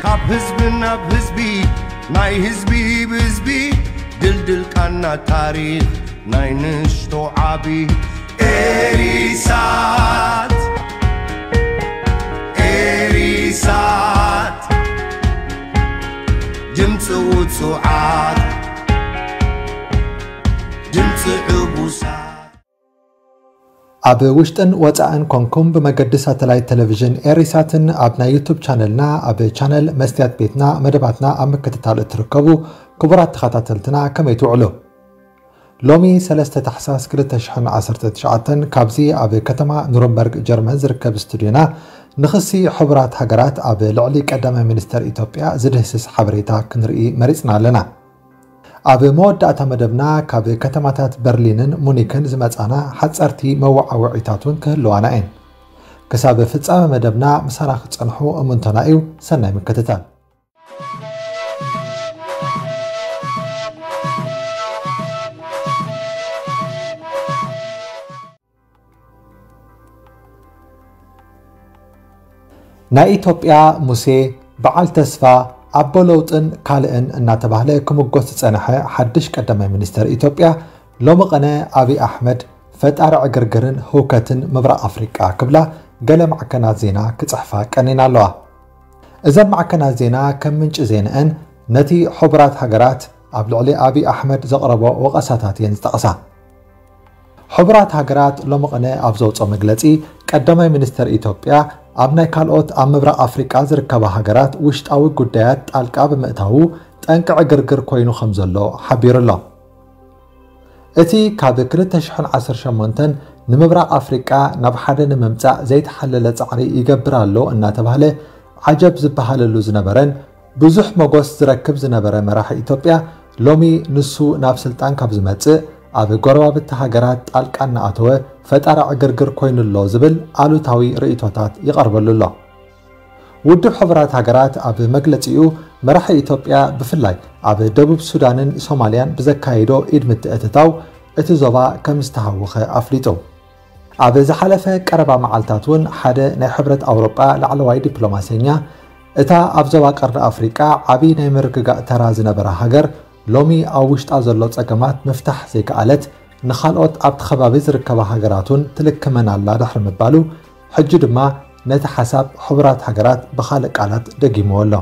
ካብ ህዝቢ ናብ ህዝቢ፣ ናይ ህዝቢ ብህዝቢ፣ ድልድል ቃና ታሪኽ ናይ ንእሽቶ ዓቢ። ኤሪሳት፣ ኤሪሳት፣ ድምፂ ውፁዓት፣ ድምፂ ዕቡሳት። ኣብ ውሽጥን ወጻእን ኮንኩም ብመገዲ ሳተላይት ቴሌቪዥን ኤሪሳትን ኣብ ናይ ዩቱብ ቻነልና ኣብ ቻነል መስትያት ቤትና መደባትና ኣብ ምክትታል እትርከቡ ክቡራት ተኸታተልትና ከመይ ትውዕሉ? ሎሚ ሰለስተ ታሕሳስ ክልተ ሽሕን ዓሰርተ ትሽዓተን ካብዚ ኣብ ከተማ ኑረምበርግ ጀርመን ዝርከብ ስቱድዮና ንኽሲ ሕቡራት ሃገራት ኣብ ልዕሊ ቀዳማይ ሚኒስተር ኢትዮጵያ ዝድህስስ ሓበሬታ ክንርኢ መሪጽና ኣለና። ኣብ መወዳእታ መደብና ካብ ከተማታት በርሊንን ሙኒክን ዝመጻና ሓጸርቲ መወዓውዒታት እውን ክህልዋና እየን። ክሳብ ፍጻመ መደብና ምሳና ክትጸንሑ እምንቶና እዩ። ሰናይ ምክትታል። ናይ ኢትዮጵያ ሙሴ፣ በዓል ተስፋ፣ ኣቦ ለውጥን ካልእን እናተባህለ ክምጎስ ዝጸንሐ ሓድሽ ቀዳማይ ሚኒስተር ኢትዮጵያ ሎሚ ቐነ ኣብይ ኣሕመድ ፈጣሪ ዕግርግርን ህውከትን ምብራቕ ኣፍሪቃ ክብላ ገለ ማዕከናት ዜና ክጽሕፋ ቀኒና ኣለዋ። እዘን ማዕከናት ዜና ከም ምንጪ ዜንአን ነቲ ሕቡራት ሃገራት ኣብ ልዕሊ ኣብይ ኣሕመድ ዘቕረቦ ወቐሳታት እየን ዝጠቕሳ። ሕቡራት ሃገራት ሎሚ ቐነ ኣብ ዘውፅኦ መግለፂ፣ ቀዳማይ ሚኒስተር ኢትዮጵያ ኣብ ናይ ካልኦት ኣብ ምብራቕ ኣፍሪቃ ዝርከባ ሃገራት ውሽጣዊ ጉዳያት ጣልቃ ብምእታዉ ጠንቂ ዕግርግር ኮይኑ ከም ዘሎ ሓቢሩ ኣሎ። እቲ ካብ ክልተ ሽሕን ዓሰርተ ሸሞንተን ንምብራቕ ኣፍሪቃ ናብ ሓደ ንምምጻእ ዘይተሓለለ ጻዕሪ ይገብር ኣሎ እናተባህለ ዓጀብ ዝበሃለሉ ዝነበረን ብዙሕ መጎስ ዝረክብ ዝነበረ መራሒ ኢትዮጵያ ሎሚ ንሱ ናብ ስልጣን ካብ ዝመጽእ ኣብ ጎረባብቲ ሃገራት ጣልቃ እናኣተወ ፈጣሪ ዕግርግር ኮይኑ ኣሎ ዝብል ኣሉታዊ ርእይቶታት ይቐርበሉ ኣሎ። ውድብ ሕቡራት ሃገራት ኣብ መግለጺኡ መራሒ ኢትዮጵያ ብፍላይ ኣብ ደቡብ ሱዳንን ሶማልያን ብዘካየዶ ኢድ ምትእትታው እቲ ዞባ ከም ዝተሃወኸ ኣፍሊጡ። ኣብ ዝሓለፈ ቀረባ መዓልታት እውን ሓደ ናይ ሕብረት ኣውሮጳ ላዕለዋይ ዲፕሎማሰኛ እታ ኣብ ዞባ ቀርኒ ኣፍሪቃ ዓቢ ናይ ምርግጋእ ተራ ዝነበራ ሃገር ሎሚ ኣብ ውሽጣ ዘሎ ጸገማት ምፍታሕ ዘይከኣለት ንኻልኦት ኣብቲ ከባቢ ዝርከባ ሃገራት እውን ትልክመን ኣላ ድሕሪ ምባሉ ሕጂ ድማ ነቲ ሓሳብ ሕቡራት ሃገራት ብኻልእ ቃላት ደጊምዎ ኣሎ።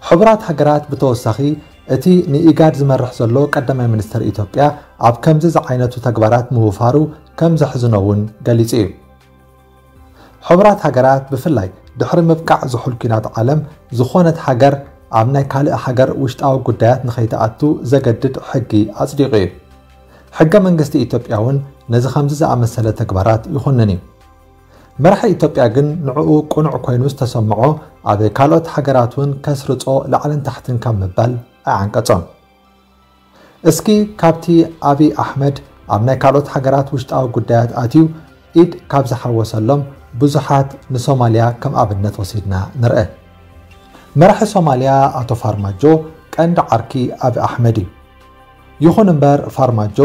ሕቡራት ሃገራት ብተወሳኺ እቲ ንኢጋድ ዝመርሕ ዘሎ ቀዳማይ ሚኒስተር ኢትዮጵያ ኣብ ከምዚ ዝዓይነቱ ተግባራት ምውፋሩ ከም ዘሕዝኖ እውን ገሊጹ እዩ። ሕቡራት ሃገራት ብፍላይ ድሕሪ ምብቃዕ ዝሑል ኲናት ዓለም ዝኾነት ሃገር ኣብ ናይ ካልእ ሃገር ውሽጣዊ ጉዳያት ንኸይትኣቱ ዘገድድ ሕጊ ኣጽዲቑ እዩ። ሕገ መንግስቲ ኢትዮጵያ እውን ነዚ ከምዚ ዝኣመሰለ ተግባራት ይኹንን እዩ። መራሒ ኢትዮጵያ ግን ንዕኡ ቅኑዕ ኮይኑ ዝተሰምዖ ኣብ ካልኦት ሃገራት እውን ከስርጾ ላዕልን ታሕትን ካብ ምባል ኣይዓንቀጾን። እስኪ ካብቲ ኣብይ ኣሕመድ ኣብ ናይ ካልኦት ሃገራት ውሽጣዊ ጉዳያት ኣትዩ ኢድ ካብ ዝሓወሰሎም ብዙሓት ንሶማልያ ከም ኣብነት ወሲድና ንርአ። መራሒ ሶማልያ ኣቶ ፋርማጆ ቀንዲ ዓርኪ ኣብይ ኣሕመድ እዩ። ይኹን እምበር ፋርማጆ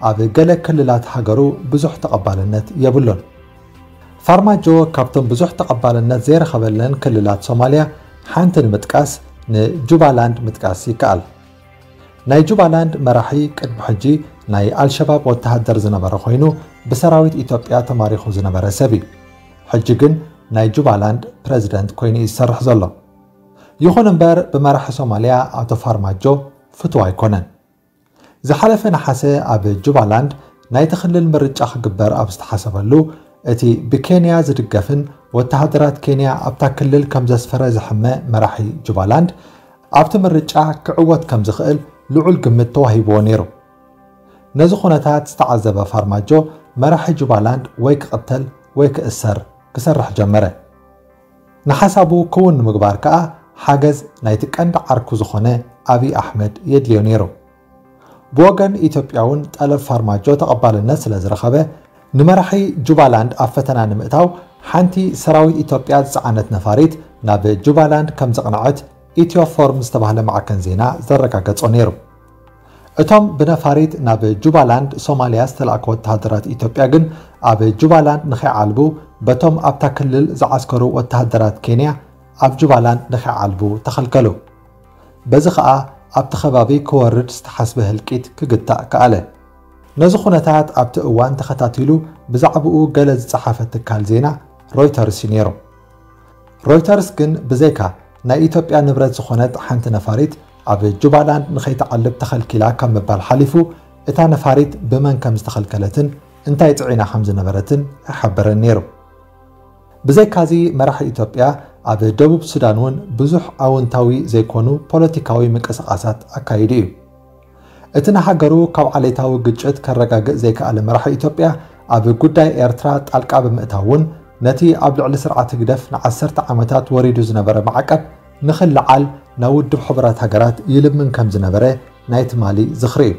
ኣብ ገለ ክልላት ሃገሩ ብዙሕ ተቐባልነት የብሉን። ፋርማጆ ካብቶም ብዙሕ ተቐባልነት ዘይረኸበለን ክልላት ሶማልያ ሓንቲ ንምጥቃስ ንጁባላንድ ምጥቃስ ይከኣል። ናይ ጁባላንድ መራሒ ቅድሚ ሕጂ ናይ ኣልሸባብ ወተሃደር ዝነበረ ኮይኑ ብሰራዊት ኢትዮጵያ ተማሪኹ ዝነበረ ሰብ እዩ። ሕጂ ግን ናይ ጁባላንድ ፕረዚደንት ኮይኑ እዩ ዝሰርሕ ዘሎ። ይኹን እምበር ብመራሒ ሶማልያ ኣቶ ፋርማጆ ፍቱው ኣይኮነን። ዝሓለፈ ነሓሰ ኣብ ጁባላንድ ናይቲ ክልል ምርጫ ክግበር ኣብ ዝተሓሰበሉ እቲ ብኬንያ ዝድገፍን ወተሃደራት ኬንያ ኣብታ ክልል ከም ዘስፈረ ዝሕመ መራሒ ጁባላንድ ኣብቲ ምርጫ ክዕወት ከም ዝኽእል ልዑል ግምት ተዋሂብዎ ነይሩ። ነዚ ኩነታት ዝተዓዘበ ፋርማጆ መራሒ ጁባላንድ ወይ ክቕተል ወይ ክእሰር ክሰርሕ ጀመረ። ንሓሳቡ ክውን ንምግባር ከኣ ሓገዝ ናይቲ ቀንዲ ዓርኩ ዝኾነ ኣብይ ኣሕመድ የድልዮ ነይሩ። ብወገን ኢትዮጵያ እውን ጠለብ ፋርማጆ ተቐባልነት ስለ ዝረኸበ ንመራሒ ጁባላንድ ኣብ ፈተና ንምእታው ሓንቲ ሰራዊት ኢትዮጵያ ዝጸዓነት ነፋሪት ናብ ጁባላንድ ከም ዘቕነዐት ኢትዮ ፎርም ዝተባህለ ማዕከን ዜና ዘረጋገጾ ነይሩ። እቶም ብነፋሪት ናብ ጁባላንድ ሶማልያ ዝተላእኩ ወተሃደራት ኢትዮጵያ ግን ኣብ ጁባላንድ ንኸይዓልቡ በቶም ኣብታ ክልል ዝዓስከሩ ወተሃደራት ኬንያ ኣብ ጁባላንድ ንኸይዓልቡ ተኸልከሉ። በዚ ኸኣ ኣብቲ ከባቢ ክወርድ ዝተሓስበ ህልቂት ክግታእ ከኣለ። ነዚ ኩነታት ኣብቲ እዋን ተኸታቲሉ ብዛዕባኡ ገለ ዝጸሓፈ ትካል ዜና ሮይተርስ እዩ ነይሩ። ሮይተርስ ግን ብዘይካ ናይ ኢትዮጵያ ንብረት ዝኾነት ሓንቲ ነፋሪት ኣብ ጁባላንድ ንኸይትዓልብ ተኸልኪላ ካብ ምባል ሓሊፉ፣ እታ ነፋሪት ብመን ከም ዝተኸልከለትን እንታይ ጽዒና ከም ዝነበረትን ኣይሓበረን ነይሩ። ብዘይካዚ፣ መራሒ ኢትዮጵያ ኣብ ደቡብ ሱዳን እውን ብዙሕ ኣወንታዊ ዘይኮኑ ፖለቲካዊ ምንቅስቓሳት ኣካይዱ እዩ። እቲ ንሃገሩ ካብ ዓሌታዊ ግጭት ከረጋግእ ዘይከኣለ መራሒ ኢትዮጵያ፣ ኣብ ጉዳይ ኤርትራ ጣልቃ ብምእታው እውን፣ ነቲ ኣብ ልዕሊ ስርዓት ህግደፍ ንዓሰርተ ዓመታት ወሪዱ ዝነበረ ማዕቀብ ንኽልዓል ናብ ውድብ ሕቡራት ሃገራት ይልምን ከም ዝነበረ ናይ ትማሊ ዝኽሪ እዩ።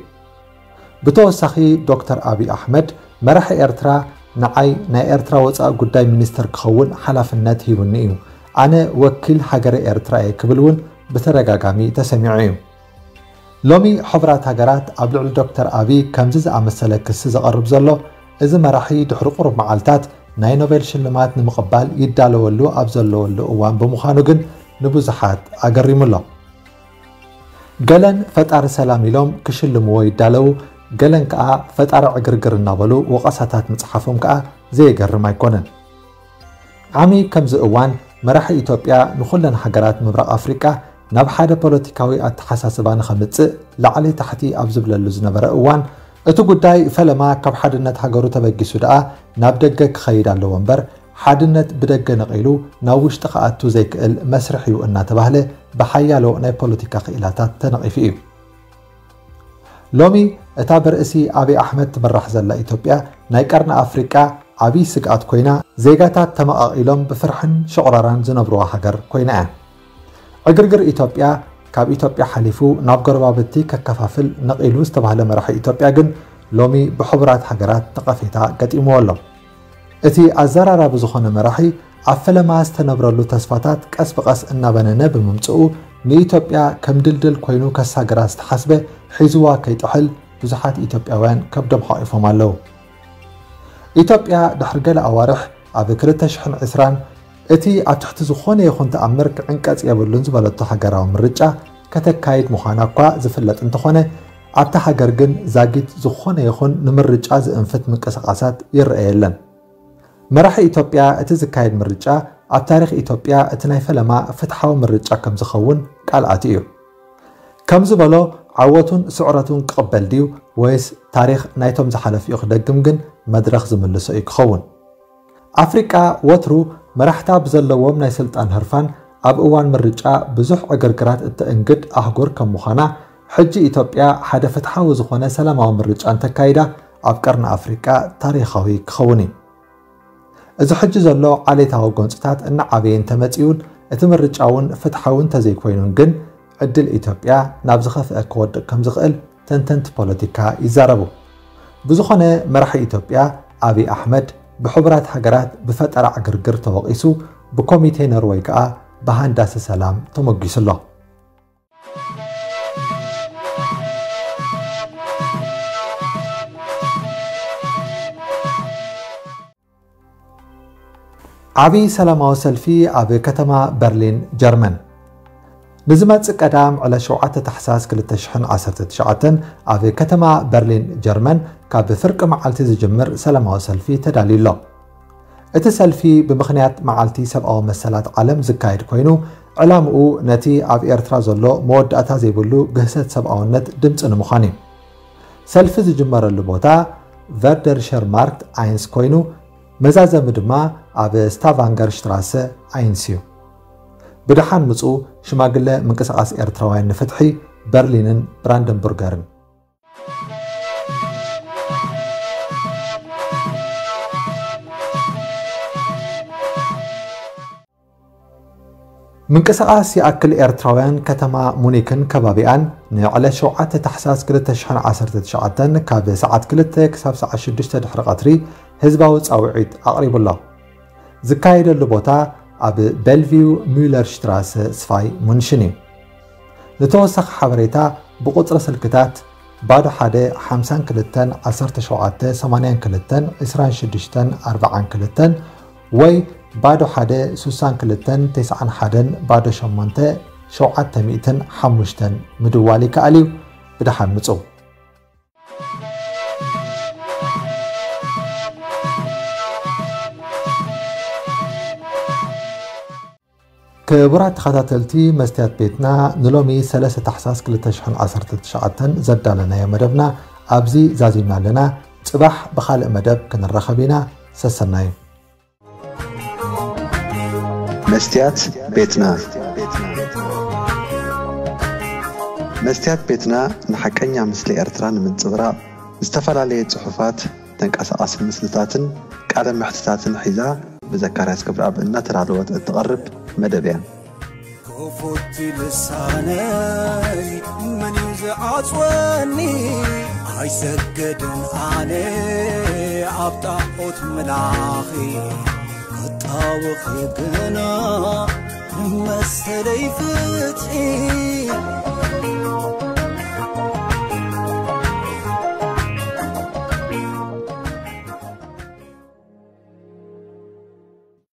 ብተወሳኺ፣ ዶክተር ኣብይ ኣሕመድ፣ መራሒ ኤርትራ ንዓይ ናይ ኤርትራ ወጻኢ ጉዳይ ሚኒስተር ክኸውን ሓላፍነት ሂቡኒ እዩ። ኣነ ወኪል ሃገረ ኤርትራ እየ ክብል እውን ብተደጋጋሚ ተሰሚዑ እዩ። ሎሚ ሕቡራት ሃገራት ኣብ ልዕሊ ዶክተር ኣብይ ከምዚ ዝኣመሰለ ክሲ ዘቐርብ ዘሎ፣ እዚ መራሒ ድሕሪ ቁሩብ መዓልታት ናይ ኖቤል ሽልማት ንምቕባል ይዳለወሉ ኣብ ዘለወሉ እዋን ብምዃኑ ግን ንብዙሓት ኣገሪሙ ኣሎ። ገለን ፈጣሪ ሰላም ኢሎም ክሽልምዎ ይዳለዉ፣ ገለን ከኣ ፈጣሪ ዕግርግር እናበሉ ወቐሳታት ምጽሓፎም ከኣ ዘየገርም ኣይኮነን። ዓሚ ከምዚ እዋን መራሒ ኢትዮጵያ ንኹለን ሃገራት ምብራቕ ኣፍሪቃ ናብ ሓደ ፖለቲካዊ ኣተሓሳስባ ንኸምጽእ ላዕሊ ታሕቲ ኣብ ዝብለሉ ዝነበረ እዋን፣ እቲ ጉዳይ ፈለማ ካብ ሓድነት ሃገሩ ተበጊሱ ደኣ ናብ ደገ ክኸይድ ኣለዎ እምበር፣ ሓድነት ብደገ ነቒሉ ናብ ውሽጢ ክኣቱ ዘይክእል መስርሕ እዩ እናተባህለ ብሓያሎ ናይ ፖለቲካ ክኢላታት ተነቒፉ እዩ። ሎሚ እታ ብርእሲ ኣብይ ኣሕመድ ትምራሕ ዘላ ኢትዮጵያ ናይ ቀርኒ ኣፍሪቃ ዓብዪ ስግኣት ኮይና፣ ዜጋታት ተመቓቒሎም ብፍርሕን ሸቑራራን ዝነብሩዋ ሃገር ኮይና እያ። ዕግርግር ኢትዮጵያ ካብ ኢትዮጵያ ሓሊፉ ናብ ጎረባብቲ ከከፋፍል ነቒሉ ዝተባህለ መራሒ ኢትዮጵያ ግን ሎሚ ብሕቡራት ሃገራት ነቐፌታ ገጢምዎ ኣሎ። እቲ ኣዘራራቢ ዝኾነ መራሒ ኣብ ፈለማ ዝተነብረሉ ተስፋታት ቀስ ብቐስ እናበነነ ብምምጽኡ፣ ንኢትዮጵያ ከም ድልድል ኮይኑ ከሳግራ ዝተሓስበ ሒዝዋ ከይጥሕል ብዙሓት ኢትዮጵያውያን ከብዶም ሓቒፎም ኣለዉ። ኢትዮጵያ ድሕሪ ገለ ኣዋርሕ ኣብ ክልተ ሽሕን ዕስራን እቲ ኣብ ትሕቲ ዝኾነ ይኹን ተኣምር ክዕንቀጽ የብሉን ዝበለቶ ሃገራዊ ምርጫ ከተካይድ ምዃና እኳ ዝፍለጥ እንተኾነ፣ ኣብታ ሃገር ግን ዛጊት ዝኾነ ይኹን ንምርጫ ዝእንፍት ምንቅስቓሳት ይረአ የለን። መራሒ ኢትዮጵያ እቲ ዝካየድ ምርጫ ኣብ ታሪኽ ኢትዮጵያ እቲ ናይ ፈለማ ፍትሓዊ ምርጫ ከም ዝኸውን ቃል ኣትዩ እዩ። ከም ዝበሎ፣ ዓወቱን ስዕረቱን ክቕበል ድዩ ወይስ ታሪኽ ናይቶም ዝሓለፉ እዩ ክደግም ግን መድረኽ ዝምልሶ እዩ ክኸውን። ኣፍሪቃ ወትሩ መራሕታ ብዘለዎም ናይ ስልጣን ህርፋን ኣብ እዋን ምርጫ ብዙሕ ዕግርግራት እተእንግድ ኣህጉር ከም ምዃና፣ ሕጂ ኢትዮጵያ ሓደ ፍትሓዊ ዝኾነ ሰላማዊ ምርጫ እንተካይዳ ኣብ ቀርኒ ኣፍሪቃ ታሪኻዊ ክኸውን እዩ። እዚ ሕጂ ዘሎ ዓሌታዊ ጎንጽታት እናዓበየ እንተመጺኡን እቲ ምርጫ እውን ፍትሓዊ እንተዘይኮይኑን ግን ዕድል ኢትዮጵያ ናብ ዝኸፍአ ክወድቕ ከም ዝኽእል ተንተንቲ ፖለቲካ ይዛረቡ። ብዝኾነ መራሒ ኢትዮጵያ ኣብይ ኣሕመድ ብሕቡራት ሃገራት ብፈጠራ ዕግርግር ተወቒሱ ብኮሚቴ ኖርወይ ከኣ ብሃንዳሲ ሰላም ተሞጊሱ ኣሎ። ዓቢ ሰላማዊ ሰልፊ ኣብ ከተማ በርሊን ጀርመን። ንዝመጽእ ቀዳም ዕለት ሸውዓተ ታሕሳስ ክልተ ሽሕን ዓሰርተ ትሽዓተን ኣብ ከተማ በርሊን ጀርመን ካብ ፍርቂ መዓልቲ ዝጅምር ሰላማዊ ሰልፊ ተዳልዩ ኣሎ። እቲ ሰልፊ ብምኽንያት መዓልቲ ሰብኣዊ መሰላት ዓለም ዝካየድ ኮይኑ፣ ዕላምኡ ነቲ ኣብ ኤርትራ ዘሎ መወዳእታ ዘይብሉ ግህሰት ሰብኣውነት ድምጺ ንምዃን እዩ። ሰልፊ ዝጅመረሉ ቦታ ቨርደርሸር ማርክት ኣይንስ ኮይኑ፣ መዛዘሚ ድማ ኣብ ስታቫንገር ሽትራሰ ኣይንስ እዩ። ብደሓን ምጹ ሽማግለ ምንቅስቓስ ኤርትራውያን ንፍትሒ በርሊንን ብራንደንቡርገርን። ምንቅስቓስ ይኣክል ኤርትራውያን ከተማ ሙኒክን ከባቢኣን ንዕለት ሸውዓተ ታሕሳስ ክልተ ሽሕን ዓሰርተ ትሽዓተን ካብ ሰዓት ክልተ ክሳብ ሰዓት ሽዱሽተ ድሕሪ ቀትሪ ህዝባዊ ጻውዒት ኣቕሪቡ ኣሎ። ዝካየደሉ ቦታ ኣብ ቤልቪው ሚለር ሽትራሰ ስፋይ ሙንሽን እዩ። ንተወሳኺ ሓበሬታ ብቁጽሪ ስልክታት ባዶ ሓደ ሓምሳን ክልተን ዓሰርተ ሸውዓተ ሰማንያን ክልተን ዕስራን ሽዱሽተን ኣርባዓን ክልተን ወይ ባዶ ሓደ ስሳን ክልተን ተስዓን ሓደን ባዶ ሸሞንተ ሸውዓተ ሚእትን ሓሙሽተን ምድዋል ይከኣል እዩ። ብደሓን ምጹ። ክቡራት ተኸታተልቲ መስትያት ቤትና፣ ንሎሚ ሰለስተ ታሕሳስ ክልተ ሽሕን ዓሰርተ ትሽዓተን ዘዳለናዮ መደብና ኣብዚ ዛዚምና ኣለና። ጽባሕ ብኻልእ መደብ ክንራኸብ ኢና። ሰሰናዩ። መስትያት ቤትና። መስትያት ቤትና ንሓቀኛ ምስሊ ኤርትራ ንምንጽብራቕ ዝተፈላለየ ጽሑፋት፣ ተንቀሳቓሲ ምስልታትን ቃለ መሕትታትን ሒዛ ብዘካርያስ ክብረኣብ እናተዳለወት እትቐርብ መደብ እያ። ክፉት ልሳነይ መን እዩ ዝዓጽወኒ? ኣይሰግድን ኣነ ኣብ ጣዖት ምላኺ፣ ክጣወኺ ግና መሰለይ ፍትሒ።